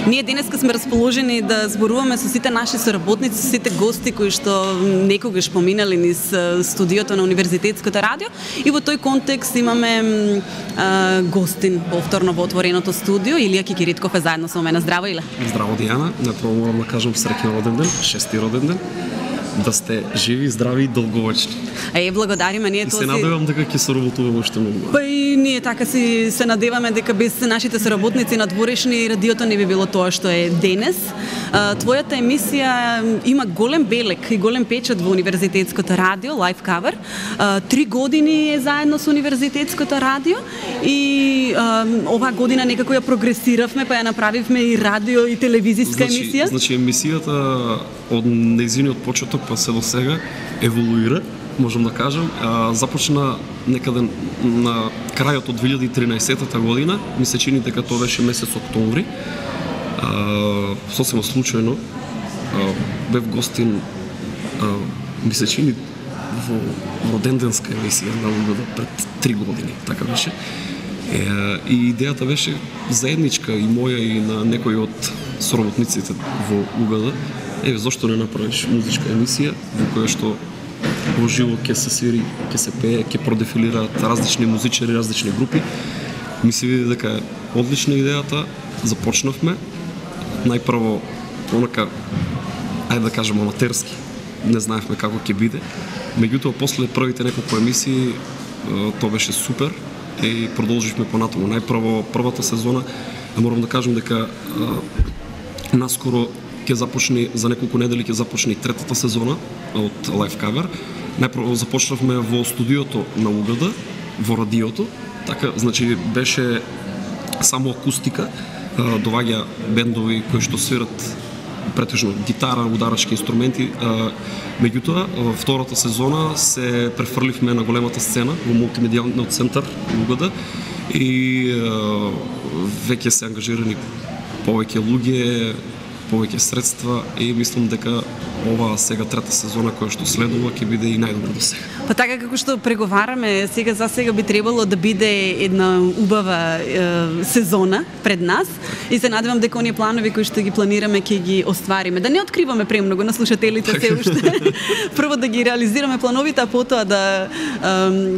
Ние денеска сме расположени да зборуваме со сите наши соработници, со сите гости кои што некогаш поминали низ студиото на Универзитетското радио, и во тој контекст имаме гостин повторно во отвореното студио. Илија Кикиритков е заедно со мене. Здраво, Иле. Здраво, Дијана. Напрово морам да кажам среќен роден ден, 6-ти роден ден. Да сте живи, здрави и долговечни. Благодариме ние и тоа. Се надевам дека ќе соработуваме уште многу. Па и ние така се надеваме дека без нашите соработници на дворешни радиото не би било тоа што е денес. Твојата емисија има голем белек и голем печат во Универзитетското радио, Live Cover. 3 години е заедно со Универзитетското радио и оваа година некако ја прогресиравме, па ја направивме и радио и телевизиска емисија. Значи емисијата од нејзиниот почеток па се до сега еволуира, можам да кажам. Започна некаде на крајот од 2013 година, ми се чини дека тоа беше месец октомври. Сосема случајно бев гостин, ми се чини во роденденска емисија на УГД пред 3 години, така беше. И идејата беше заедничка и моја и на некои од соработниците во УГД. Зошто не направиш музичка емисија во која што во живо ќе се свири, ќе се пее, ќе продефилираат различни музичари, различни групи. Ми се види дека е одлична идејата. Започнавме најпрво онака, ајде да кажем, аматерски. Не знаевме како ќе биде. Меѓутоа, после првите неколку емисии, тоа беше супер и продолживме понатаму. Најпрво првата сезона, морам да кажем дека наскоро ќе започне, за неколку недели ќе започне и третата сезона од Live Cover. Најпрво започнавме во студиото на УГД, во радиото, така, значи беше само акустика, доваѓа бендови кои што свират претежно гитара, ударачки инструменти. Меѓутоа, во втората сезона се префрливме на големата сцена во мултимедијалниот центар УГД и веќе се ангажирани повеќе луѓе, повеќе средства и мислам дека ова сега трета сезона која што следува ќе биде и најдобра до сега. Па така како што преговараме, за сега би требало да биде една убава сезона пред нас и се надевам дека оние планови кои што ги планираме ќе ги оствариме. Да не откриваме премногу на слушателите се уште. Прво да ги реализираме плановите, а потоа да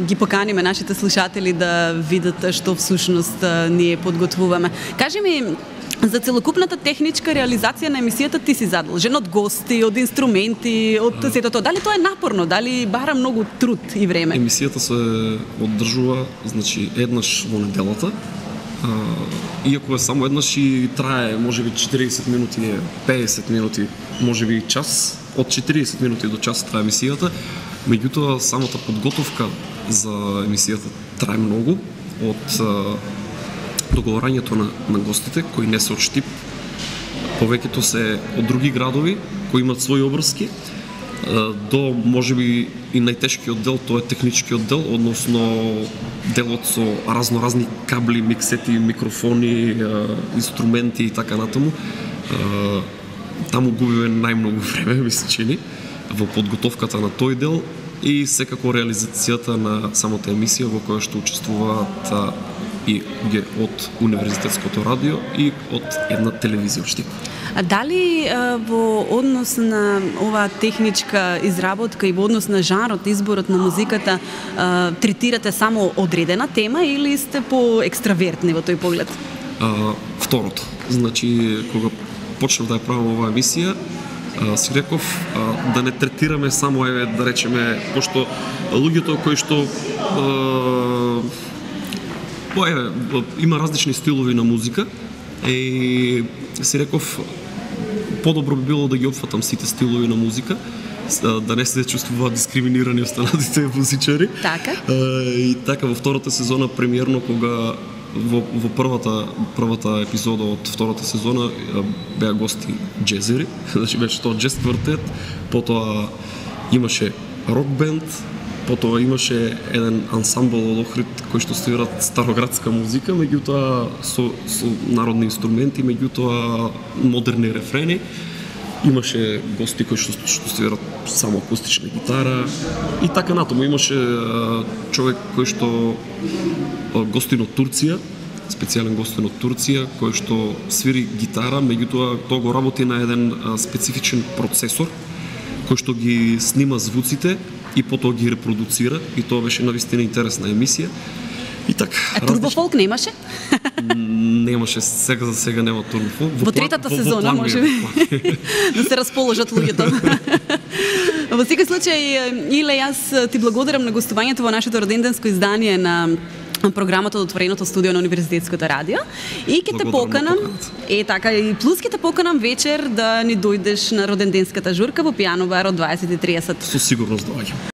ги поканиме нашите слушатели да видат што всушност ние подготвуваме. Кажи ми, за целокупната техничка реализација на емисијата ти си задолжен од гости, од инструменти, од сето тоа. Дали тоа е напорно? Дали бара многу труд и време? Емисијата се одржува, значи, еднаш во неделата. Иако е само еднаш и трае можеби 40 минути, 50 минути, можеби и час, од 40 минути до час трае емисијата. Меѓутоа, самата подготовка за емисијата трае многу, од договорањето на гостите, кои не се од Штип, повеќето се од други градови, кои имат своји обврски, до можеби и најтешкиот дел, тоа е техничкиот дел, односно делот со разноразни кабли, миксети, микрофони, инструменти и така натаму. Таму губиме најмногу време, ми се чини, во подготовката на тој дел и секако реализацијата на самата емисија во која што учествуваат и од Универзитетското радио и од една телевизија Штип. А дали во однос на оваа техничка изработка и во однос на жанрот, изборот на музиката, третирате само одредена тема или сте по-екстравертни во тој поглед? Второто. Значи, кога почнав да ја правам оваа емисија, си реков да не третираме само, да речеме, пошто луѓето кои што има различни стилови на музика и си реков подобро би било да ги опфатам сите стилови на музика, да не се чувствуваат дискриминирани останатите музичари. Така. И така во втората сезона премиерно, кога во првата епизода од втората сезона беа гости джезери, значи беше тоа джез квартет, потоа имаше рок бенд, потоа имаше еден ансамбл од Охрид кој што свират староградска музика, меѓутоа со народни инструменти, меѓутоа модерни рефрени. Имаше гости кои што свират само акустична гитара и така натаму. Имаше човек кој што гостин од Турција, специјален гостин од Турција, кој што свири гитара, меѓутоа тоа го работи на еден специфичен процесор, кој што ги снима звуците и потоа ги репродуцира, и тоа беше навистина интересна емисија. И така. Турбофолк немаше? Немаше, сега за сега нема турбофолк. Во третата сезона можеби да се расположат луѓето. Во секој случај, Иле, јас ти благодарам на гостувањето во нашето роденденско издание на програмата од отвореното студио на Универзитетското радио, и ќе те поканам, така, и плюс ќе те поканам вечер да ни дојдеш на роденденската журка во Пијано бар од 20:30. Со сигурност доаѓам.